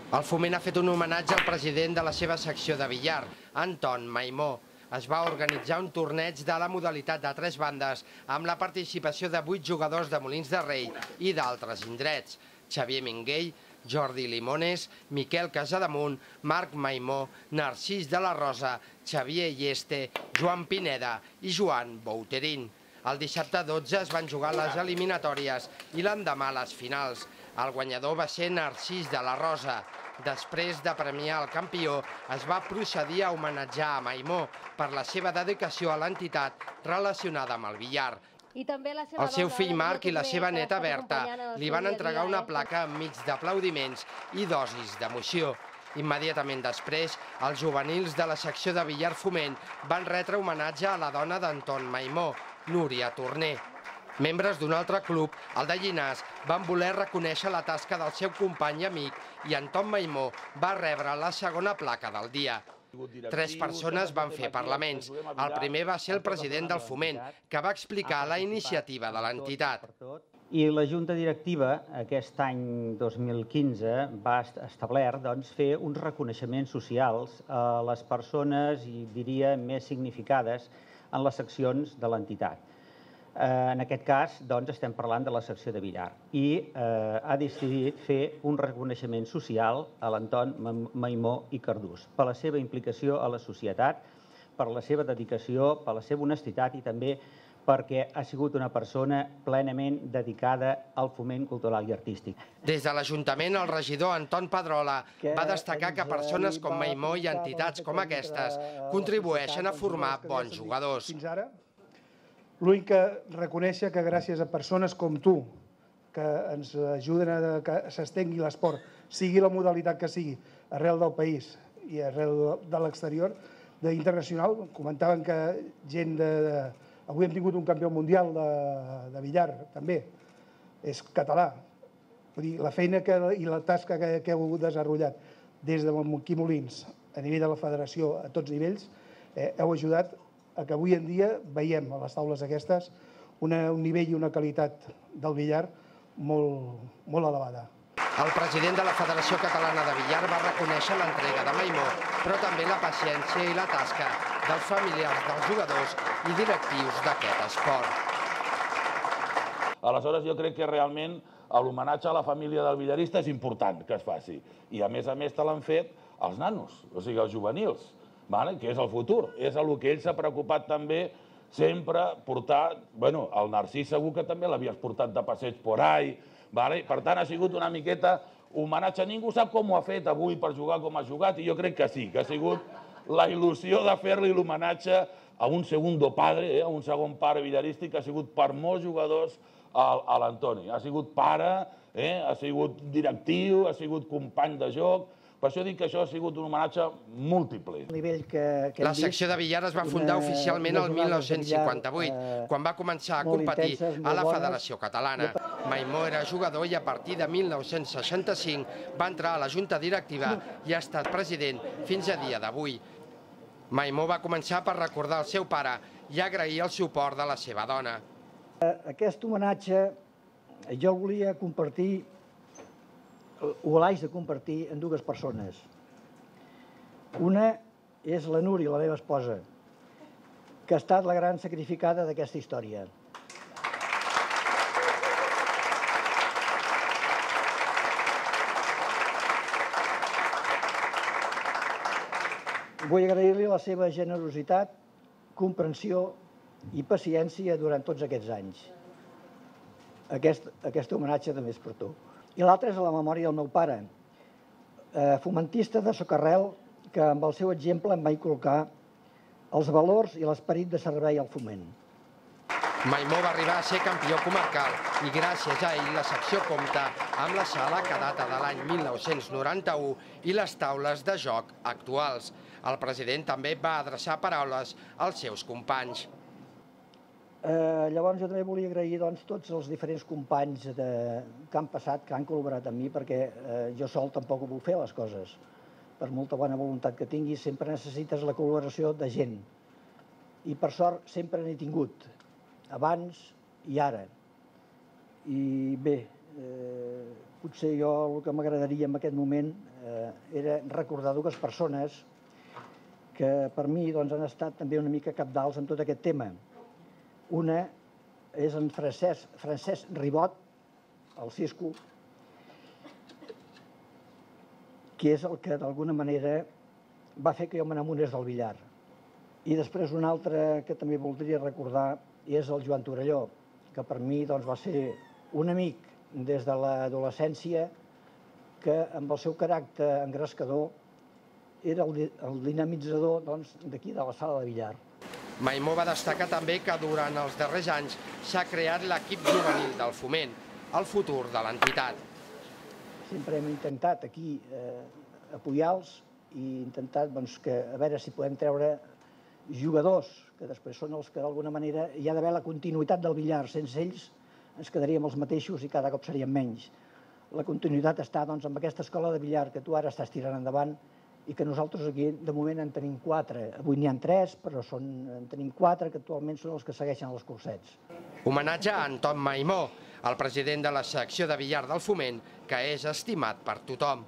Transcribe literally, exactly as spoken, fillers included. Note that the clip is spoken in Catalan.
El Foment ha fet un homenatge al president de la seva secció de billar, Anton Maimó. Es va organitzar un torneig de la modalitat de tres bandes amb la participació de vuit jugadors de Molins de Rei i d'altres indrets. Xavier Minguell, Jordi Limones, Miquel Casademunt, Marc Maimó, Narcís de la Rosa, Xavier Lleste, Joan Pineda i Joan Bouterín. El dissabte dotze es van jugar les eliminatòries i l'endemà les finals. El guanyador va ser Narcís de la Rosa. Després de premiar el campió, es va procedir a homenatjar a Maimó per la seva dedicació a l'entitat relacionada amb el billar. El seu fill Marc i la seva neta Berta li van entregar una placa enmig d'aplaudiments i dosis d'emoció. Immediatament després, els juvenils de la secció de billar Foment van retre homenatge a la dona d'Anton Maimó, Núria Torner. Membres d'un altre club, el de Llinars, van voler reconèixer la tasca del seu company i amic i Anton Maimó va rebre la segona placa del dia. Tres persones van fer parlaments. El primer va ser el president del Foment, que va explicar la iniciativa de l'entitat. I la Junta Directiva, aquest any dos mil quinze, va establert fer uns reconeixements socials a les persones, i diria, més significades en les seccions de l'entitat. En aquest cas, doncs, estem parlant de la secció de billar i ha decidit fer un reconeixement social a l'Anton Maimó i Cardús per la seva implicació a la societat, per la seva dedicació, per la seva honestitat i també perquè ha sigut una persona plenament dedicada al foment cultural i artístic. Des de l'Ajuntament, el regidor Anton Pedrola va destacar que persones com Maimó i entitats com aquestes contribueixen a formar bons jugadors. L'únic que reconèixer que gràcies a persones com tu, que ens ajuden a que s'estengui l'esport, sigui la modalitat que sigui, arrel del país i arrel de l'exterior, d'internacional, comentaven que gent de... Avui hem tingut un campió mundial de billar, també, és català. Vull dir, la feina i la tasca que heu desenvolupat des de Montquí Molins, a nivell de la federació, a tots nivells, heu ajudat a que avui en dia veiem a les taules aquestes un nivell i una qualitat del billar molt elevada. El president de la Federació Catalana de Billar va reconèixer l'entrega de Maimó, però també la paciència i la tasca dels familiars dels jugadors i directius d'aquest esport. Aleshores, jo crec que realment l'homenatge a la família del billarista és important que es faci. I a més a més te l'han fet els nanos, o sigui, els juvenils, que és el futur. És el que ell s'ha preocupat també sempre portar... Bueno, el Narcís segur que també l'havies portat de passeig por ahí. Per tant, ha sigut una miqueta homenatge. Ningú sap com ho ha fet avui per jugar com ha jugat i jo crec que sí, que ha sigut la il·lusió de fer-li l'homenatge a un segundo padre, a un segon pare billarístic que ha sigut per molts jugadors a l'Antoni. Ha sigut pare, ha sigut directiu, ha sigut company de joc. Per això dic que això ha sigut un homenatge múltiple. La secció de billar es va fundar oficialment el mil nou-cents cinquanta-vuit, quan va començar a competir a la Federació Catalana. Maimó era jugador i a partir de mil nou-cents seixanta-cinc va entrar a la Junta Directiva i ha estat president fins a dia d'avui. Maimó va començar per recordar el seu pare i agrair el suport de la seva dona. Aquest homenatge jo el volia compartir o l'haig de compartir en dues persones. Una és la Núria, la meva esposa, que ha estat la gran sacrificada d'aquesta història. Vull agrair-li la seva generositat, comprensió i paciència durant tots aquests anys. Aquest homenatge també és per tu. I l'altre és a la memòria del meu pare, fomentista de Socarrel, que amb el seu exemple em va inculcar els valors i l'esperit de servei al foment. Maimó va arribar a ser campió comarcal i gràcies a ell la secció compta amb la sala que data de l'any mil nou-cents noranta-u i les taules de joc actuals. El president també va adreçar paraules als seus companys. Llavors jo també volia agrair tots els diferents companys que han passat, que han col·laborat amb mi, perquè jo sol tampoc ho puc fer les coses. Per molta bona voluntat que tinguis, sempre necessites la col·laboració de gent. I per sort sempre n'he tingut, abans i ara. I bé, potser jo el que m'agradaria en aquest moment era recordar dues persones que per mi doncs, han estat també una mica capdals en tot aquest tema. Una és en Francesc, Francesc Ribot, el Cisco, que és el que d'alguna manera va fer que jo me n'amonés del billar. I després un altre que també voldria recordar és el Joan Torelló, que per mi doncs, va ser un amic des de l'adolescència que amb el seu caràcter engrescador era el, el dinamitzador d'aquí doncs, de la sala de billar. Maimó va destacar també que durant els darrers anys s'ha creat l'equip juvenil del Foment, el futur de l'entitat. Sempre hem intentat aquí eh, apoyar-los i intentat doncs, que, a veure si podem treure jugadors, que després són els que d'alguna manera hi ha d'haver la continuïtat del billar. Sense ells ens quedaríem els mateixos i cada cop seríem menys. La continuïtat està doncs, amb aquesta escola de billar que tu ara estàs tirant endavant i que nosaltres aquí de moment en tenim quatre. Avui n'hi ha tres, però són, en tenim quatre que actualment són els que segueixen els cursets. Homenatge a Anton Maimó, el president de la secció de billar del Foment, que és estimat per tothom.